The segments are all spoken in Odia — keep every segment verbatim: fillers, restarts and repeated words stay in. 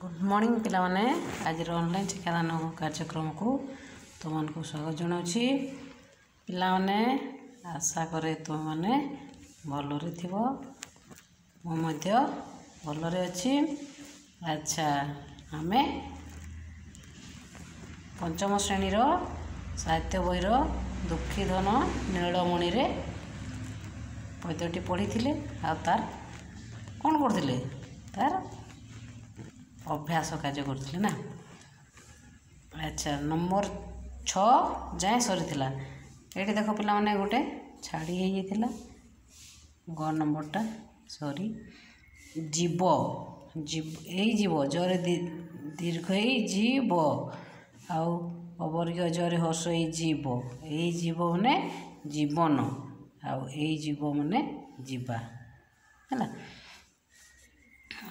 ଗୁଡ଼୍ ମର୍ଣ୍ଣିଂ ପିଲାମାନେ, ଆଜିର ଅନଲାଇନ୍ ଶିକ୍ଷାଦାନ କାର୍ଯ୍ୟକ୍ରମକୁ ତୁମମାନଙ୍କୁ ସ୍ୱାଗତ ଜଣାଉଛି। ପିଲାମାନେ, ଆଶା କରେ ତୁମେମାନେ ଭଲରେ ଥିବ, ମୁଁ ମଧ୍ୟ ଭଲରେ ଅଛି। ଆଚ୍ଛା, ଆମେ ପଞ୍ଚମ ଶ୍ରେଣୀର ସାହିତ୍ୟ ବହିର ଦୁଃଖୀଧନ ନୀଳମଣିରେ ପଦ୍ୟଟି ପଢ଼ିଥିଲେ ଆଉ ତାର କ'ଣ କରୁଥିଲେ, ତାର ଅଭ୍ୟାସ କାର୍ଯ୍ୟ କରୁଥିଲେ ନା। ଆଚ୍ଛା, ନମ୍ବର ଛଅ ଯାଏଁ ସରିଥିଲା। ଏଇଠି ଦେଖ ପିଲାମାନେ, ଗୋଟେ ଛାଡ଼ି ହେଇଯାଇଥିଲା ଗ ନମ୍ବରଟା, ସରି। ଜୀବ, ଜୀବ ଏଇ ଜୀବ ଜରେ ଦୀର୍ଘ ଏଇ ଜୀବ, ଆଉ ଅବର୍ଗୀୟ ଜରେ ହର୍ଷ ଏଇ ଜୀବ। ଏଇ ଜୀବ ମାନେ ଜୀବନ, ଆଉ ଏଇ ଜୀବ ମାନେ ଯିବା, ହେଲା।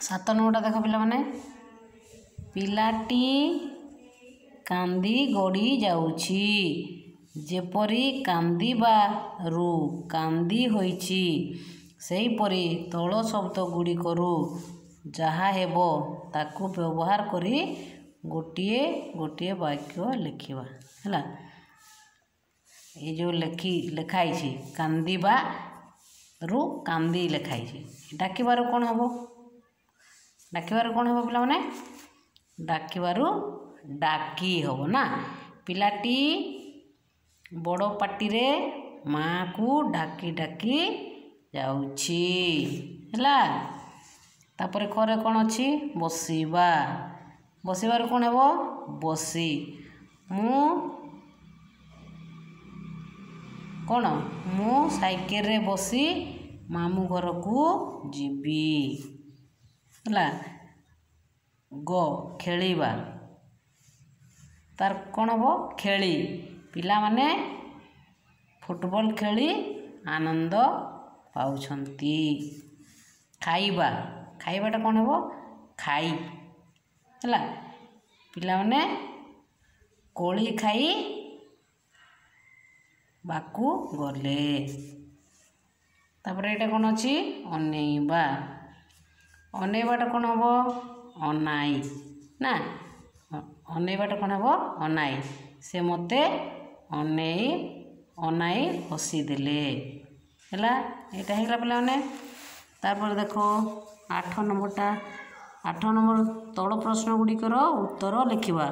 ସାତ ନମ୍ବରଟା ଦେଖ ପିଲାମାନେ, ପିଲାଟି କାନ୍ଦି ଗଡ଼ି ଯାଉଛି, ଯେପରି କାନ୍ଦିବାରୁ କାନ୍ଦି ହୋଇଛି ସେହିପରି ତଳ ଶବ୍ଦ ଗୁଡ଼ିକରୁ ଯାହା ହେବ ତାକୁ ବ୍ୟବହାର କରି ଗୋଟିଏ ଗୋଟିଏ ବାକ୍ୟ ଲେଖିବା, ହେଲା। ଏଇ ଯେଉଁ ଲେଖି ଲେଖା ହେଇଛି କାନ୍ଦିବାରୁ କାନ୍ଦି ଲେଖା ହେଇଛି, ଡାକିବାରୁ କ'ଣ ହେବ? ଡାକିବାରୁ କ'ଣ ହେବ ପିଲାମାନେ? ଡାକିବାରୁ ଡାକି ହେବ ନା। ପିଲାଟି ବଡ଼ ପାଟିରେ ମାଆକୁ ଡାକି ଡାକି ଯାଉଛି, ହେଲା। ତାପରେ ଖରେ କ'ଣ ଅଛି? ବସିବା। ବସିବାରୁ କ'ଣ ହେବ? ବସି। ମୁଁ କ'ଣ? ମୁଁ ସାଇକେଲରେ ବସି ମାମୁଁ ଘରକୁ ଯିବି, ହେଲା। ଗ ଖେଳିବା, ତାର କ'ଣ ହେବ? ଖେଳି। ପିଲାମାନେ ଫୁଟବଲ ଖେଳି ଆନନ୍ଦ ପାଉଛନ୍ତି। ଖାଇବା, ଖାଇବାଟା କ'ଣ ହେବ? ଖାଇ, ହେଲା। ପିଲାମାନେ କୋଳି ଖାଇ ବାକୁ ଗଲେ। ତାପରେ ଏଇଟା କ'ଣ ଅଛି? ଅନେଇବା। ଅନେଇବାଟା କ'ଣ ହେବ? ଅନାଇ ନା, ଅନେଇବାଟା କ'ଣ ହେବ? ଅନାଇ। ସେ ମୋତେ ଅନେଇ ଅନାଇ ହସିଦେଲେ, ହେଲା। ଏଇଟା ହେଇଗଲା ପିଲାମାନେ। ତାପରେ ଦେଖ ଆଠ ନମ୍ବରଟା, ଆଠ ନମ୍ବର ତଳ ପ୍ରଶ୍ନ ଗୁଡ଼ିକର ଉତ୍ତର ଲେଖିବା।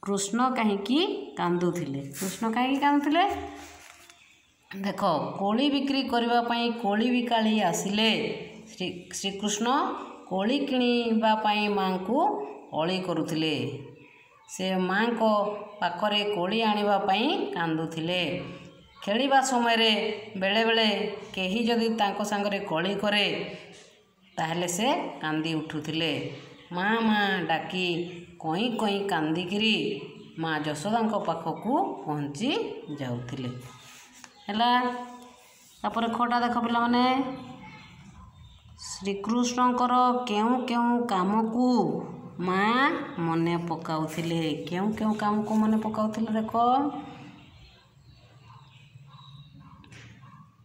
କୃଷ୍ଣ କାହିଁକି କାନ୍ଦୁଥିଲେ? କୃଷ୍ଣ କାହିଁକି କାନ୍ଦୁଥିଲେ? ଦେଖ, କୋଳି ବିକ୍ରି କରିବା ପାଇଁ କୋଳି ବିକାଳି ଆସିଲେ। ଶ୍ରୀ ଶ୍ରୀକୃଷ୍ଣ କୋଳି କିଣିବା ପାଇଁ ମାଆଙ୍କୁ ଅଳି କରୁଥିଲେ। ସେ ମାଆଙ୍କ ପାଖରେ କୋଳି ଆଣିବା ପାଇଁ କାନ୍ଦୁଥିଲେ। ଖେଳିବା ସମୟରେ ବେଳେବେଳେ କେହି ଯଦି ତାଙ୍କ ସାଙ୍ଗରେ କଳି କରେ ତାହେଲେ ସେ କାନ୍ଦି ଉଠୁଥିଲେ। ମା ମା ଡାକି କଇଁ କଇଁ କାନ୍ଦିକିରି ମା ଯଶୋଦାଙ୍କ ପାଖକୁ ପହଞ୍ଚି ଯାଉଥିଲେ, ହେଲା। ତାପରେ ଖଟା ଦେଖ ପିଲାମାନେ, ଶ୍ରୀକୃଷ୍ଣଙ୍କର କେଉଁ କେଉଁ କାମକୁ ମା ମନେ ପକାଉଥିଲେ? କେଉଁ କେଉଁ କାମକୁ ମନେ ପକାଉଥିଲେ? ଦେଖ,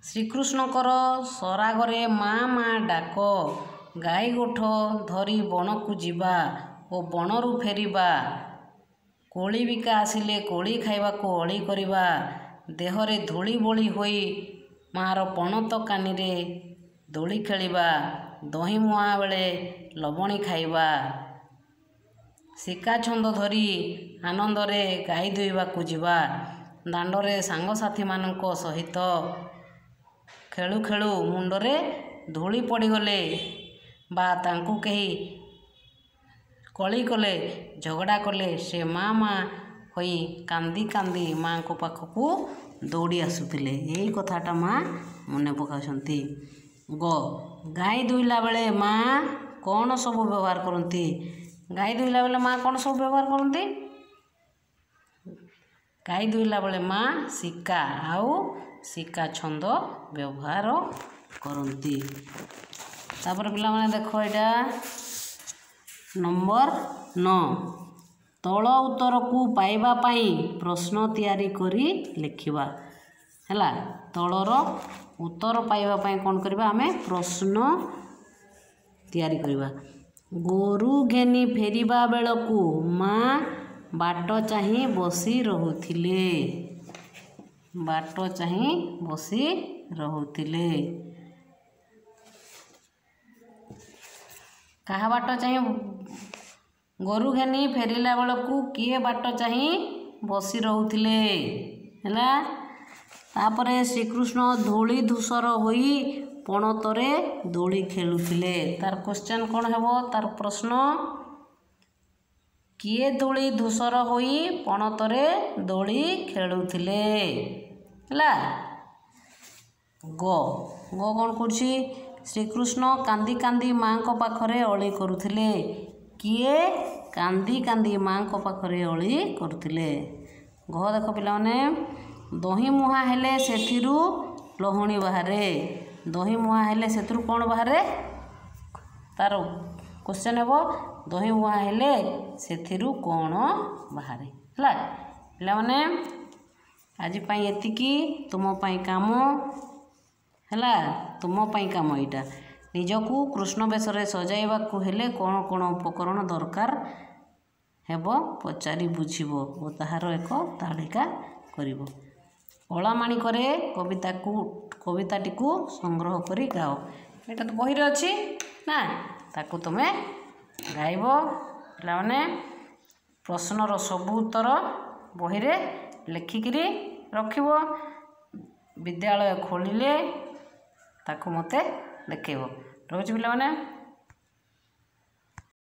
ଶ୍ରୀକୃଷ୍ଣଙ୍କର ସରାଗରେ ମା ମା ଡାକ, ଗାଈ ଗୋଠ ଧରି ବଣକୁ ଯିବା ଓ ବଣରୁ ଫେରିବା, କୋଳି ବିକା ଆସିଲେ କୋଳି ଖାଇବାକୁ ଅଳି କରିବା, ଦେହରେ ଧୂଳି ବୋଳି ହୋଇ ମାଆର ପଣତ କାନିରେ ଦୋଳି ଖେଳିବା, ଦହି ମୁଆଁ ବେଳେ ଲବଣୀ ଖାଇବା, ଶିକା ଛନ୍ଦ ଧରି ଆନନ୍ଦରେ ଗାଈ ଦୁହିବାକୁ ଯିବା, ଦାଣ୍ଡରେ ସାଙ୍ଗସାଥିମାନଙ୍କ ସହିତ ଖେଳୁ ଖେଳୁ ମୁଣ୍ଡରେ ଧୂଳି ପଡ଼ିଗଲେ ବା ତାଙ୍କୁ କେହି କଳି କଲେ, ଝଗଡ଼ା କଲେ ସେ ମା ମା ହୋଇ କାନ୍ଦି କାନ୍ଦି ମାଆଙ୍କ ପାଖକୁ ଦୌଡ଼ି ଆସୁଥିଲେ। ଏଇ କଥାଟା ମା ମନେ ପକାଉଛନ୍ତି। ଗ ଗାଈ ଦୁହିଲା ବେଳେ ମା କ'ଣ ସବୁ ବ୍ୟବହାର କରନ୍ତି? ଗାଈ ଦୁହିଲା ବେଳେ ମା କ'ଣ ସବୁ ବ୍ୟବହାର କରନ୍ତି? ଗାଈ ଦୁହିଲା ବେଳେ ମା ଶିକା ଆଉ ଶିକା ଛନ୍ଦ ବ୍ୟବହାର କରନ୍ତି। ତାପରେ ପିଲାମାନେ ଦେଖ, ଏଇଟା ନମ୍ବର ନଅ, ତଳ ଉତ୍ତରକୁ ପାଇବା ପାଇଁ ପ୍ରଶ୍ନ ତିଆରି କରି ଲେଖିବା, ହେଲା। ତଳର ଉତ୍ତର ପାଇବା ପାଇଁ କ'ଣ କରିବା? ଆମେ ପ୍ରଶ୍ନ ତିଆରି କରିବା। ଗୋରୁ ଘେନି ଫେରିବା ବେଳକୁ ମା ବାଟ ଚାହିଁ ବସି ରହୁଥିଲେ। ବାଟ ଚାହିଁ ବସି ରହୁଥିଲେ। କାହା ବାଟ ଚାହିଁ? ଗୋରୁ ଘେନି ଫେରିଲା ବେଳକୁ କିଏ ବାଟ ଚାହିଁ ବସି ରହୁଥିଲେ? ହେଲା। ତାପରେ ଶ୍ରୀକୃଷ୍ଣ ଧୂଳି ଧୂସର ହୋଇ ପଣତରେ ଦୋଳି ଖେଳୁଥିଲେ। ତାର କ୍ୱେଶ୍ଚନ୍ କ'ଣ ହେବ? ତାର ପ୍ରଶ୍ନ, କିଏ ଧୂଳି ଧୂସର ହୋଇ ପଣତରେ ଦୋଳି ଖେଳୁଥିଲେ? ହେଲା। ଗ, ଗ କ'ଣ କରୁଛି? ଶ୍ରୀକୃଷ୍ଣ କାନ୍ଦି କାନ୍ଦି ମାଆଙ୍କ ପାଖରେ ଅଳି କରୁଥିଲେ। କିଏ କାନ୍ଦି କାନ୍ଦି ମାଆଙ୍କ ପାଖରେ ଅଳି କରୁଥିଲେ? ଘ ଦେଖ ପିଲାମାନେ, ଦହି ମୁହାଁ ହେଲେ ସେଥିରୁ ଲହୁଣୀ ବାହାରେ। ଦହି ମୁହାଁ ହେଲେ ସେଥିରୁ କ'ଣ ବାହାରେ? ତାର କ୍ୱେଶ୍ଚନ୍ ହେବ, ଦହି ମୁହାଁ ହେଲେ ସେଥିରୁ କ'ଣ ବାହାରେ? ହେଲା ପିଲାମାନେ, ଆଜି ପାଇଁ ଏତିକି। ତୁମ ପାଇଁ କାମ ହେଲା, ତୁମ ପାଇଁ କାମ ଏଇଟା। ନିଜକୁ କୃଷ୍ଣ ବେଶରେ ସଜାଇବାକୁ ହେଲେ କ'ଣ କ'ଣ ଉପକରଣ ଦରକାର ହେବ ପଚାରି ବୁଝିବ ଓ ତାହାର ଏକ ତାଲିକା କରିବ। ଅଳାମାଣିକରେ କବିତାକୁ, କବିତାଟିକୁ ସଂଗ୍ରହ କରି ଗାଅ। ଏଇଟା ତ ବହିରେ ଅଛି ନା, ତାକୁ ତୁମେ ଗାଇବ। ପିଲାମାନେ, ପ୍ରଶ୍ନର ସବୁ ଉତ୍ତର ବହିରେ ଲେଖିକିରି ରଖିବ। ବିଦ୍ୟାଳୟ ଖୋଲିଲେ ତାକୁ ମୋତେ ଦେଖେଇବ। ରହୁଛି ପିଲାମାନେ।